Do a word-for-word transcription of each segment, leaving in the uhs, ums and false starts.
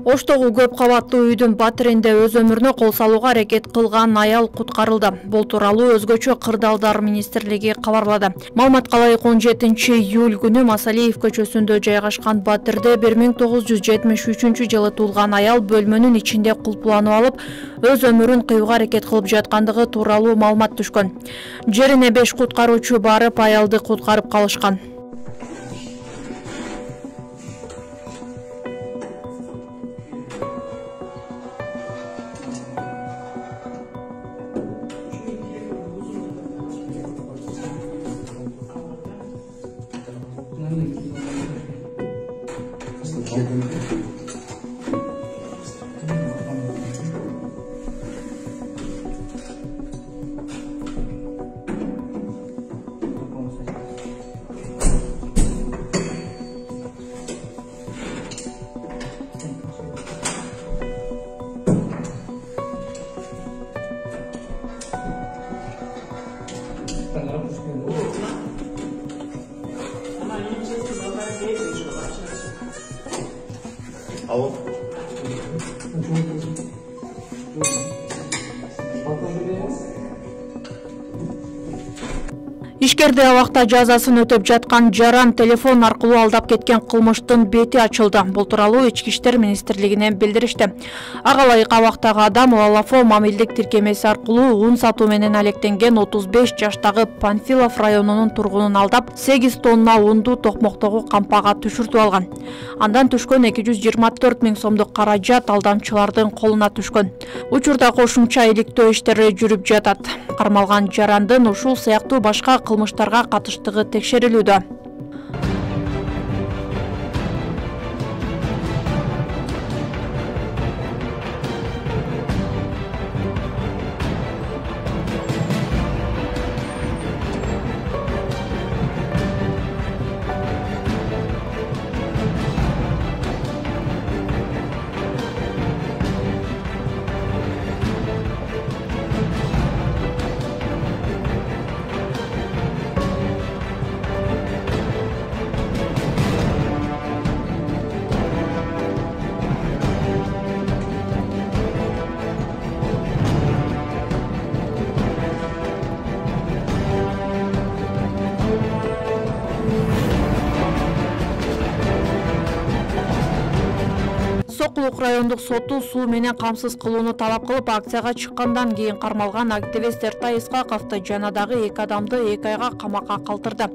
Оштогу көп кабаттуу үйдүн батиринде өз өмүрүнө кол салууга аракет кылган аял куткарылды. Бул тууралуу Өзгөчө кырдаалдар министрлиги кабарлады. Маалыматка ылайык он жетинчи июль күнү Масалиев көчөсүндө жайгашкан батирде бир миң тогуз жүз жетимиш үчүнчү жылы туулган аял бөлмөнүн ичинде кулпуланып алып, өз өмүрүн кыюуга аракет кылып жаткандыгы тууралуу маалымат түшкөн. Жерине беш куткаруучу барып, аялды куткарып калышкан. Алло. Ишкерде абакта жазасын өтөп жаткан жаран телефон аркылуу алдап кеткен кылмыштын бети ачылды. Бул тууралуу Ички иштер министрлигинен билдиришти. Ага ылайык абактагы адам Лалафо мамилдик тиркемеси аркылуу ун сатуу менен алектенген отуз беш жаштагы Панфилов районунун тургунун алдап, сегиз тонна унду токмоктогу кампага түшүртүп алган. Андан түшкөн эки жүз жыйырма төрт миң сомдук каражат алдамчылардын колуна түшкөн. Учурда кошумча иликтөө иштери жүрүп жатат. Кармалган жарандын ушул сыяктуу башка кылмыштарга катыштыгы текшерилүүдө. Сокулук райондук соту суу менен камсыз кылууну талап кылып акцияга чыккандан кийин кармалган активист Эртай Исхаковду жана дагы эки адамды эки айга камакка калтырды.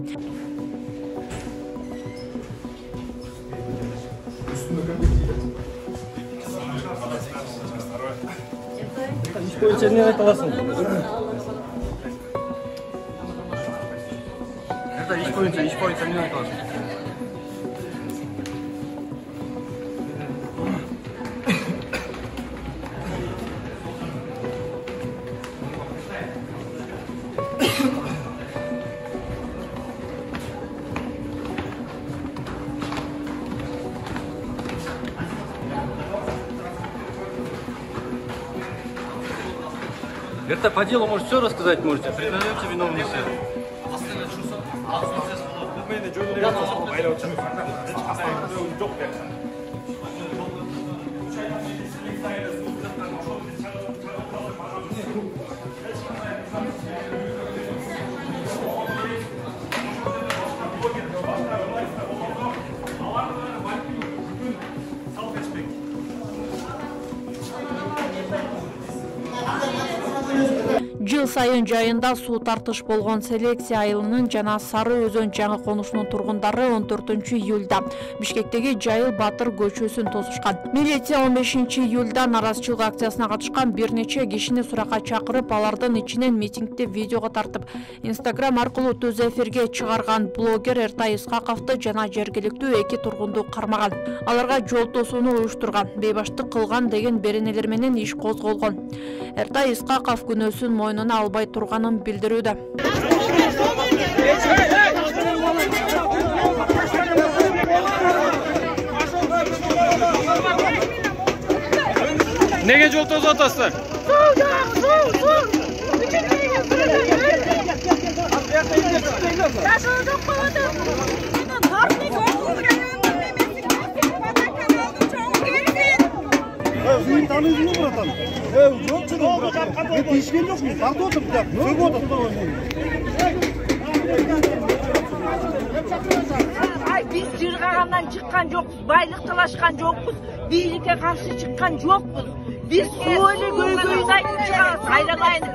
Иш боюнча эмне айта аласың? Это иш боюнча, иш боюнча эмне айта аласың? Это по делу может все рассказать, можете. Признаете виновность. Жыл сайын жайында суу тартыш болгон Селекция айылынын жана Сары Өзөн жаңы конушунун тургундары он төртүнчү июлда Бишкектеги Жайыл Батыр көчөсүн тосушкан. Милиция он бешинчи июлда наразычылык акциясына катышкан бир нече кишини суракка чакырып, алардын ичинен митингди видеого тартып, Инстаграм аркылуу түз эфирге чыгарган блогер Эртай Исхаковду жана жергиликтүү эки тургунду кармаган. Аларга жол тосууну уюштурган, бейбаштык кылган деген беренелер менен иш козголгон. Эртай Исхаков күнөөсүн мойнуна албай турганын билдирүүдө. Неге жол тосуп атасыздар? Сен танысың ба, братан? Э, жоқ жүріп. Мен тиішкен жоқпын. Тартып отырмын, сөгіп отырмын. Ай, biz жырғағаннан шыққан жоқпыз, байлық талашқан жоқпыз, билікке қарсы шыққан жоқпыз. Biz söyle göy-göyün aytып сайрамайын.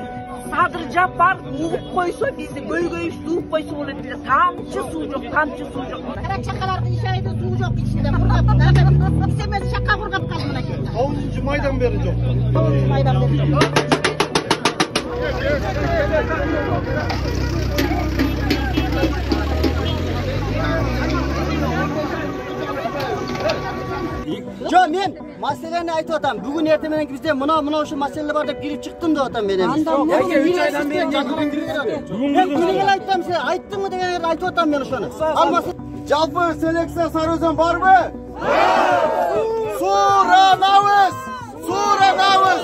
Садыр Жапар уғып қойса, бізді göy-göy суып қойса болады. Бізде тамчы су жоқ, тамчы су жоқ. Қара шақалардың ішайды су жоқ ішінде құрғап. Істемес шақа құрғап қалды мына жерде. тоғызыншы майдан бері жоқ. тоғызыншы майдан бері жоқ. Жо, мен маселени айтып атам. Бүгүн эртең менен бизде мына мына ошо маселе бар деп кирип чыктым деп атам мен эми. Яке үч айдан бери мен күнүгө айттым, сен айттыңбы дегенди айтып атам мен ошону. Алмасы Жалпы селекция Сарыөзөн барбы? Суранабыз! Суранабыз!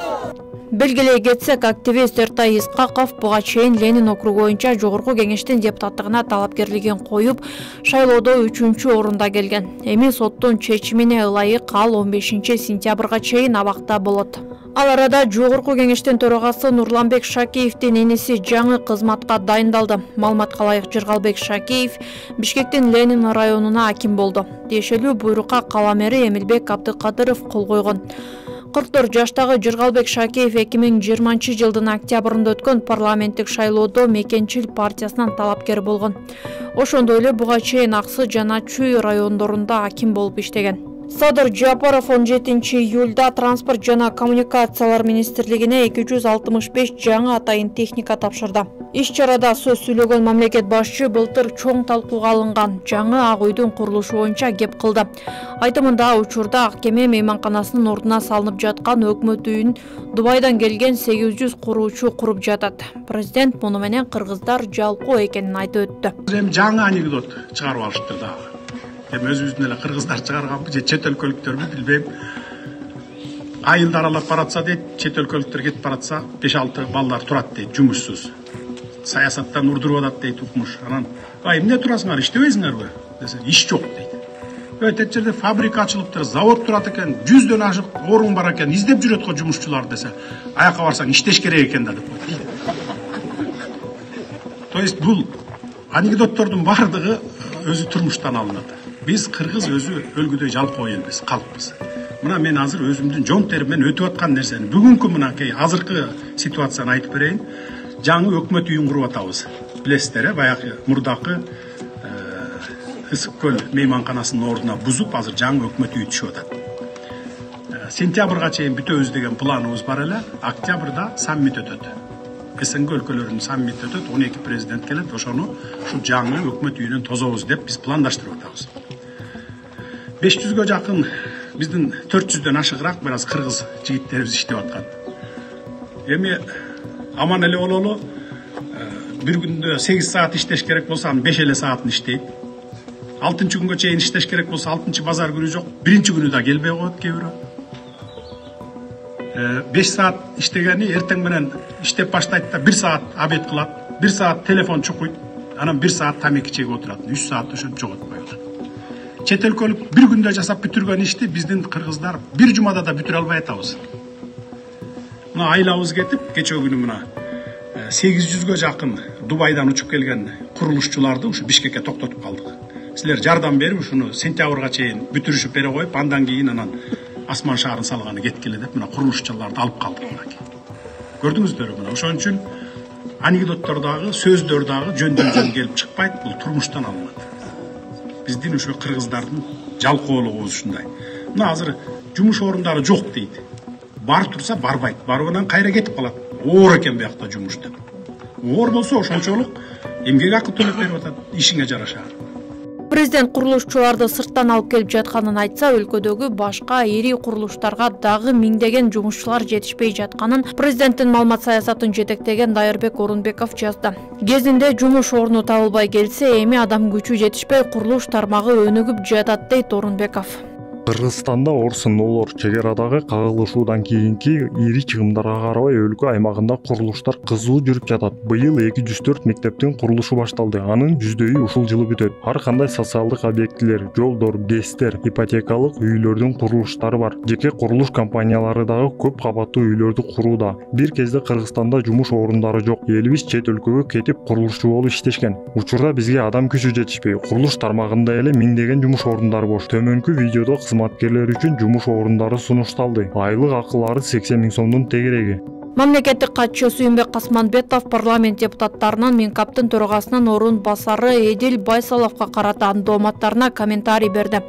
Белгилей кетсек, активист Эртай Исқақов буга чейин Ленин округу боюнча жогорку кеңештин депутаттыгына талапкерлигин коюп, шайлоодо үчүнчү орунда келген. Эми соттун чечимине ылайык ал он бешинчи сентябрга чейин абакта болот. Ал арада жогорку кеңештин төрагасы Нурланбек Шакеевдин иниси жаңы кызматка дайындалды. Маалыматка ылайык Жыргалбек Шакеев Бишкектин Ленин районуна аким болду. Тиешелүү буйрукка кала мэри Эмилбек Абдыкадыров кол койгон. кырк төрт жаштагы Жыргалбек Шакеев эки миң жыйырманчы жылдын октябрында өткөн парламенттик шайлоодо Мекенчил партиясынан талапкер болгон. Ошондой эле буга чейин Аксы жана Чүй райондорунда аким болуп иштеген. Садыр Жапаров он жетинчи июлда транспорт жана коммуникациялар министрлигине эки жүз алтымыш беш жаңы атайын техника тапшырды. Иш-чарада сөз сүйлөгөн мамлекет башчы былтыр чоң талкууга алынган жаңы Ак үйдүн курулушу боюнча кеп кылды. Айтымында учурда Ак кеме мейманканасынын ордуна салынып жаткан өкмөт үйүн Дубайдан келген сегиз жүз куруучу куруп жатат. Президент муну менен кыргыздар жалкоо экенин айтып өттү. Эми жаңы анекдот чыгарып алыштыр да. Эми өзүбүздүн эле кыргыздар чыгарганбы же чет өлкөлүктөрбү билбейм. Айылды аралап баратса дейт, чет өлкөлүктөр кетип баратса беш алты балдар турат дейт, жумушсуз. Саясаттан урдуруп атат дейт укмуш. Анан, "Ай, эмне турасыңар, иштебейсиңерби?" десе, "Иш жок" дейт. Өтө жерде фабрика ачылыптыр, завод турат экен, жүздөн ашык орун бар экен, издеп жүрөт го жумушчулар десе, "Аяка барсаң иштеш керек экен да" деп койт. То есть бул анекдоттордун бардыгы өзү турмуштан алынат. Биз кыргыз өзү өлгүдөй жалкоо элбиз, калкпыз. Мына мен азыр өзүмдүн жон териммен өтүп аткан нерсени, бүгүнкү мынакей азыркы ситуацияны айтып берейин. Жаңы өкмөт үйүн куруп атабыз. Билесиздер, баягы мурдакы Ысык көл мейманканасынын ордуна бузуп, азыр жаңы өкмөт үйү түшүп атат. Сентябрга чейин бүтөбүз деген планыбыз бар эле. Октябрда саммит өтөт. СНГ өлкөлөрүнүн саммити өтөт, он эки президент келет, ошону ушу жаңы өкмөт үйүнөн тозобуз деп биз пландаштырып атабыз. беш жүзгө жакын биздин төрт жүздөн ашыгыраак бир аз кыргыз жигиттерибиз иштеп аткан. Эми аман эле бололу, бир күндө сегиз саат иштеш керек болсо, анын беш эле саатын иштейт. алтынчы күнгө чейин иштеш керек болсо, алтынчы базар күнү жок, биринчи күнү да келбей коет кээ бирөө. беш саат иштегени эртең менен иштеп баштайт да бир саат обед кылат, бир саат телефон чукуйт, анан бир саат тамеки чегип отурат, үч саат ошентип жоготпой калат. Чет өлкөлүк бир күндө жасап бүтүргөн ишти биздин кыргыздар бир жумада да бүтүрө албай атабыз. Мына айлабыз кетип, кечээ күнү мына сегиз жүзгө жакын Дубайдан учуп келген курулушчуларды ушу Бишкекке токтотуп калдык. Силер жардам берип, ушуну сентябрга чейин бүтүрүшүп бере коюп, андан кийин анан асман шаарын салганы кеткиле деп мына курулушчуларды алып калдык мынакей. Көрдүңүздөрбү мына ошон үчүн анекдоттор дагы, сөздөр дагы жөндөн жөн келип чыкпайт, бул турмуштан алынат. Биздин ушу кыргыздардын жалкоолугубуз ушундай. Мына азыр жумуш орундары жок дейт. Бар турса барбайт, барып анан кайра кетип калат. Оор экен биякта жумуш деп. Оор болсо ошончолук эмгек акы төлөп берип атат, ишиңе жараша. Президент курулушчуларды сырттан алып келип жатканын айтса, өлкөдөгү башка ири курулуштарга дагы миңдеген жумушчулар жетишпей жатканын президенттин маалымат саясатын жетектеген Дайырбек Орунбеков жазды. Кезинде жумуш орну табылбай келсе, эми адам күчү жетишпей курулуш тармагы өнүгүп жатат дейт Орунбеков. Кыргызстанда орсунулор чек арадагы кагылышуудан кийинки ири чыгымдарга карабай өлкө аймагында курулуштар кызуу жүрүп жатат. Быйыл эки жүз төрт мектептин курулушу башталды. Анын жүздөйү ушул жылы бүтөт. Ар кандай социалдык объектилер, жолдор, гэстер, ипотекалык үйлөрдүн курулуштары бар. Жеке курулуш компаниялары дагы көп кабаттуу үйлөрдү курууда. Бир кезде Кыргызстанда жумуш орундары жок. Элибиз чет өлкөгө кетип курулушчу болуп иштешкен. Учурда бизге адам күчү жетишпей, курулуш тармагында эле миңдеген жумуш орундары бош. Төмөнкү видеодо кызматкерлер үчүн жумуш орундары сунушталды. Айлык акылары сексен миң сомдун тегереги. Мамлекеттик катчы Сүйүнбек Касманбетов парламент депутаттарынын Минкаптын төрагасынын орун басары Эдил Байсаловго карата дооматтарына комментарий берди.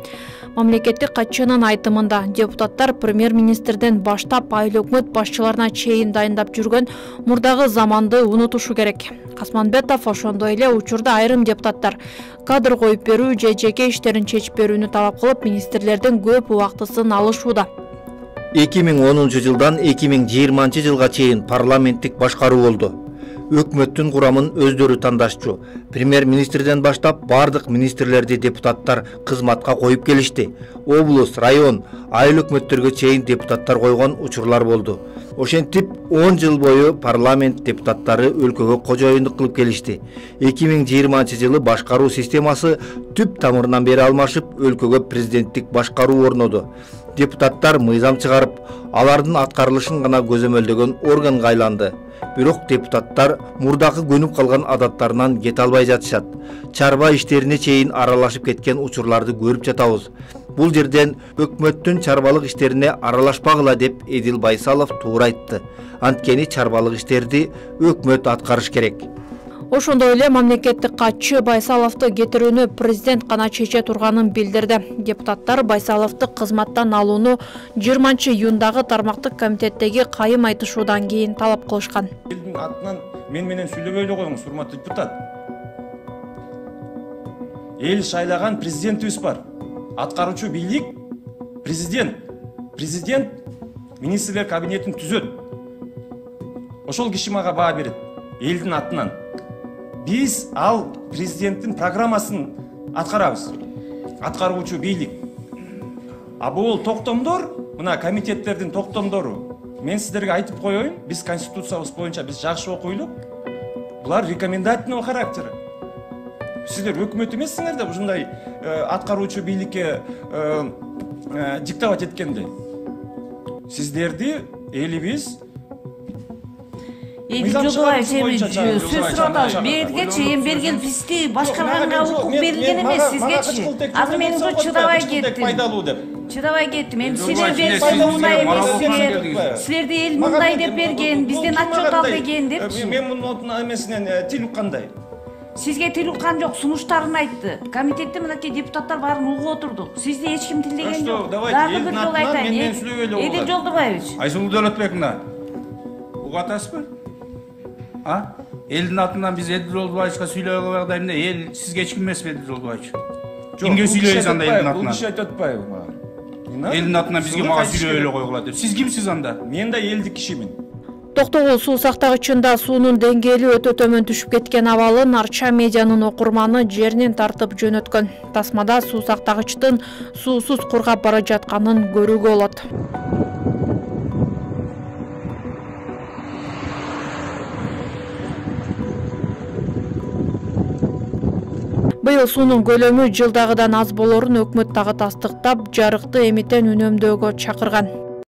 Мамлекеттик катчынын айтымында депутаттар премьер-министрден баштап айыл өкмөт башчыларына чейин дайындап жүргөн мурдагы заманды унутушу керек. Касманбетов ошондой эле учурда айрым депутаттар кадр коюп берүү же жеке иштерин чечип берүүнү талап кылып, министрлердин көп убактысын алышууда. эки миң онунчу жылдан эки миң жыйырманчы жылга чейин парламенттик башкаруу болду. Өкмөттүн курамын өздөрү тандашчу. Премьер-министрден баштап бардык министрлерди депутаттар кызматка коюп келишти. Облус, район, айыл өкмөттөргө чейин депутаттар койгон учурлар болду. Ошентип он жыл бою парламент депутаттары өлкөгө кожоюндук кылып келишти. эки миң жыйырманчы жылы башкаруу системасы түп тамырынан бери алмашып, өлкөгө президенттик башкаруу орноду. Депутаттар мыйзам чыгарып, алардын аткарылышын гана көзөмөлдөгөн органга айланды. Бирок депутаттар мурдагы көнүп калган адаттарынан кете албай жатышат. Чарба иштерине чейин аралашып кеткен учурларды көрүп жатабыз. Бул жерден өкмөттүн чарбалык иштерине аралашпагыла деп Эдил Байсалов туура айтты. Анткени чарбалык иштерди өкмөт аткарыш керек. Ошондой эле мамлекеттик катчы Байсаловду кетирүүнү президент гана чече турганын билдирди. Депутаттар Байсаловду кызматтан алууну жыйырманчы июндагы тармактык комитеттеги кайым айтышуудан кийин талап кылышкан. Элдин атынан мен менен сүйлөбөй эле коюңуз, урматтуу депутат. Эл шайлаган президентибиз бар. Аткаруучу бийлик президент. Президент министрлер кабинетин түзөт. Ошол киши мага баа берет. Элдин атынан. Биз ал президенттин программасын аткарабыз. Аткаруучу бийлик. А бул токтомдор, мына комитеттердин токтомдору. Мен сиздерге айтып коеюн, биз конституциябыз боюнча биз жакшы окуйлук. Булар рекомендательный характер. Сиздер өкмөт эмессиңер да ушундай аткаруучу бийликке диктовать эткенде. Сиздерди элибиз Эдил Жолдубаев сөз сурап атабыз. Берге чейин берген бизди башкарганга укук берилген эмес сизгечи. Азыр мен уже чыдабай кеттим. Чыдабай кеттим. Эми силерден мындай эмес. Силерди эл мындай деп берген, бизден отчет ал деген депчи. Мен мунун эмесинен тил уккандай. Сизге тил уккан жок, сунуштарын айтты. Комитетте мынакей депутаттар баарын угуп отурду. Сизди эч ким тилдеген жок. Дагы бир жолу айтайын. Эдил Жолдубаевич. Айсулуу Дөөлөтбек мына. Угуп атасызбы? А? Элдин атынан биз Эдил Жолдубаевичка сүйлөөгө багдай эмне? Эл сизге эч ким эмеспи Эдил Жолдубаевич? Кимге сүйлөйсүз анда элдин атынан? Бул киши айтып атпайбы мага? Элдин атынан бизге мага сүйлөй эле койгула деп. Сиз кимсиз анда? Мен да элдик кишимин. Токтогул суу сактагычында суунун деңгээли өтө төмөн түшүп кеткен абалын Арча медианын окурманы жеринен тартып жөнөткөн. Тасмада суу сактагычтын суусуз кургап бара жатканын көрүүгө болот. Быйыл суунун көлөмү жылдагыдан аз болорун өкмөт дагы тастыктап, жарыкты эмитен үнөмдөөгө чакырган.